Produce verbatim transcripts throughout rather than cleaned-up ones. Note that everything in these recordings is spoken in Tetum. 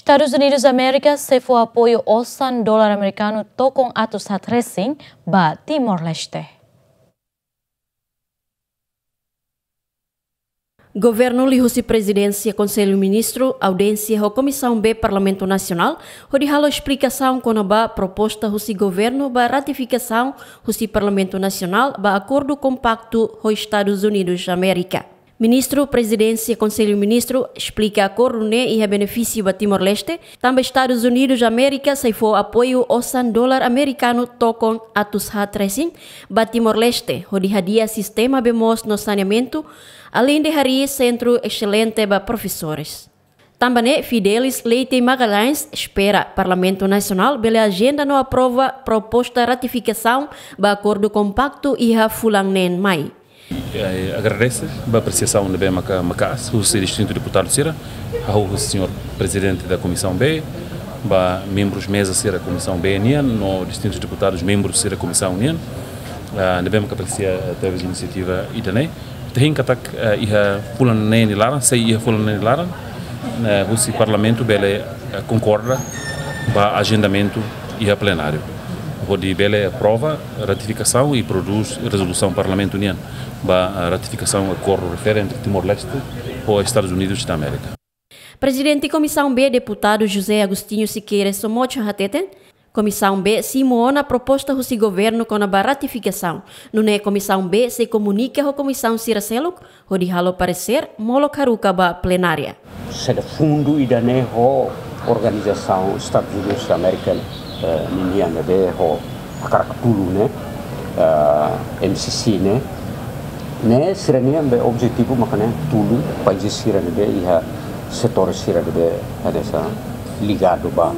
Estadus Unidus Amérika sei fó apoiu osan dolar amerikanu tokon atus haat resin ba Timor-Leste. Governu liuhusi Prezidénsia Konsellu Ministru audiénsia ho Komisaun B Parlamentu Nasionál, hodi halo esplikasaun kona-ba proposta husi governu ba ratifikasaun husi Parlamentu Nasionál ba akordu kompaktu ho Estadus Unidus Amérika. Ministru Prezidénsia Konsellu Ministru esplika akordu ne'e iha benefísiu ba Timor-Leste, tanba Estadus Unidus Amérika sei fó apoiu osan dolar amerikanu tokon atus haat resin ba Timor-Leste, hodi hadi'a sistema bee moos no saneamentu, aleinde harii sentru eselente ba profesores. Tanba ne'e, Fidelis Leite Magalhães espera Parlamentu Nasionál bele ajenda no aprova proposta ratifikasaun ba akordu kompaktu iha fulan neen mai. Eh, agradese ba apresiasaun ne'ebé maka, maka'as husi distintu deputadu sira, hahú husi señór Prezidente da Komisaun B, ba membrus meza sira Komisaun B nian, no distintus deputadus membrus sira Komisaun nian, ah, ne'ebé maka apresia tebes inisiativa ida-ne'e. Ita hein katak, eh, iha fulan neen nia laran, sei iha fulan neen nia laran, eh, husi Parlamentu bele, eh, konkorda ba ajendamentu iha plenáriu, hodi bele aprova ratifikasaun i prodús rezolusaun Parlamentu nian ba, eh, ratifikasaun akordu refere entre Timor-Leste ho Estadus Unidus da Amérika. Prezidente Komisaun B, Deputadu José Agostinho Sequeira Somocho hateten, Komisaun B simu ona proposta husi governu kona-ba ratifikasaun. Nune'e Komisaun B sei komunika ho komisaun sira seluk, hodi halo paresér molok haruka ba plenária. Saida fundu ida-ne'e ho organizasaun Estadus Unidus Amérika, eh, ninian ne'ebé ho hakarak tulun ne'e, eh, M C C ne'e, ne'e sira-nian be objetivu maka ne'e tulun país sira ne'ebé iha setór sira ne'ebé hanesan ligadu ba,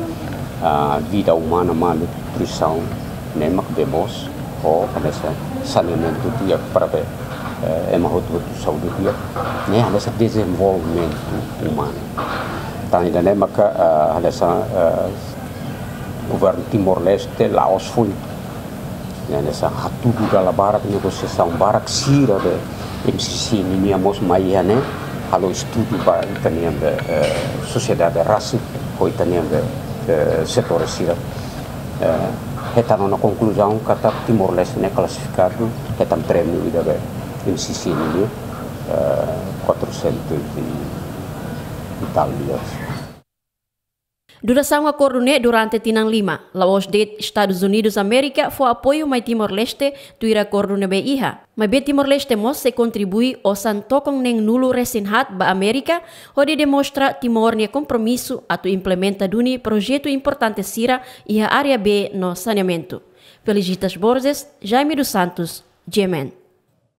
ah, vida umana, malnutrisaun, ne'e mak bee moos ho hanesan saneamentu di'ak para be, eh, ema hotu-hotu saúde di'ak, ne'e hanesan dezenvolvimentu umanu. Tan ida-ne'e maka, eh, hanesan, eh, governu Timor-Leste la'ós foin, ne'e hanesan hatudu dala barak, negosiasaun barak sira be M C C nian mós mai iha ne'e, halo estudu ba ita-nian be, eh, sosiedade rasik ho ita-nian be, eh, setór sira. Eh, hetan ona konkluzaun katak Timor-Leste ne'e klasifikadu hetan prémiu ida be M C C nian, eh, quatrocentos e tal milhões. Durasaun akordu ne'e durante tinan lima, la'ós de'it Estadus Unidus Amérika fó apoiu mai Timor-Leste tuir akordu ne'ebé iha. Maibé Timor-Leste mós sei kontribui osan tokon neen-nulu resin haat ba Amérika, hodi demonstra Timor nia kompromisu atu implementa duni projetu importante sira iha área bee no saneamentu. Felicitas Borges, Jaime dos Santos, G M N.